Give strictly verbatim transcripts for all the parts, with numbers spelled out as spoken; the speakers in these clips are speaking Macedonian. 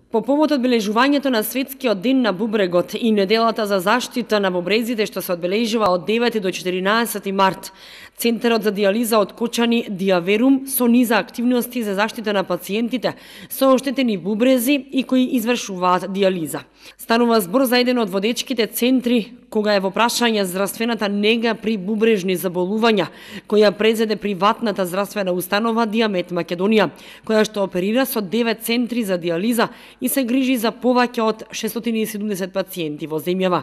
По повод одбележувањето на Светскиот ден на бубрегот и неделата за заштита на бубрезите што се одбележува од девети до четиринаесети март, Центарот за дијализа од Кочани Диаверум со низа активности за заштита на пациентите со оштетени бубрези и кои извршуваат дијализа. Станува збор за еден од водечките центри кога е во прашање здравствената нега при бубрежни заболувања, која презеде приватната здравствена установа Диамет Македонија, која што оперира со девет центри за дијализа и се грижи за повеќе од шестстотини и седумдесет пациенти во земјава.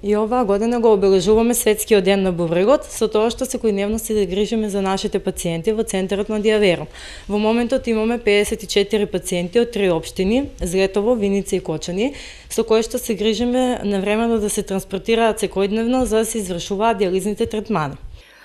И оваа година го обележуваме Светскиот ден на бубрегот со тоа што секојдневно се да грижиме за нашите пациенти во Центарот на Диаверум. Во моментот имаме пеесет и четири пациенти од три општини, Злетово, Виница и Кочани, со кои што се грижиме навремено да се транспортираат секојдневно за да се извршуваат дијализните третмани.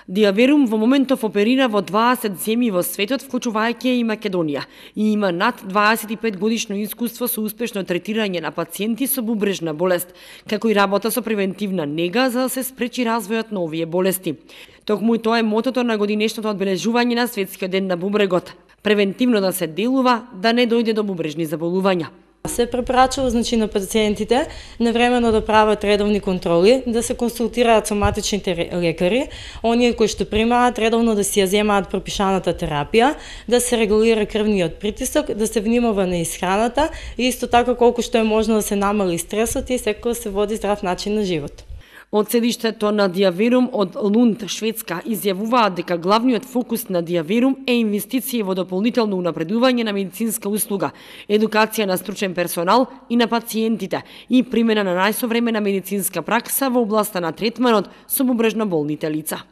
Диаверум во моментов оперира во дваесет земји во светот, вклучувајќи и Македонија, и има над дваесет и пет годишно искуство со успешно третирање на пациенти со бубрежна болест, како и работа со превентивна нега за да се спречи развојот на овие болести. Токму и тоа е мотото на годинешното одбележување на Светскиот ден на бубрегот. Превентивно да се делува, да не дојде до бубрежни заболувања. Се препорачува значи на пациентите навремено да прават редовни контроли, да се консултираат со матичните лекари, оние кои што примаат редовно да си ја земаат пропишаната терапија, да се регулира крвниот притисок, да се внимава на исхраната и исто така колку што е можно да се намали стресот и секој да се води здрав начин на живот. Од седиштето на Диаверум од Лунд, Шведска, изјавуваат дека главниот фокус на Диаверум е инвестиции во дополнително унапредување на медицинска услуга, едукација на стручен персонал и на пациентите и примена на најсовремена медицинска пракса во областа на третманот со бубрежно болните лица.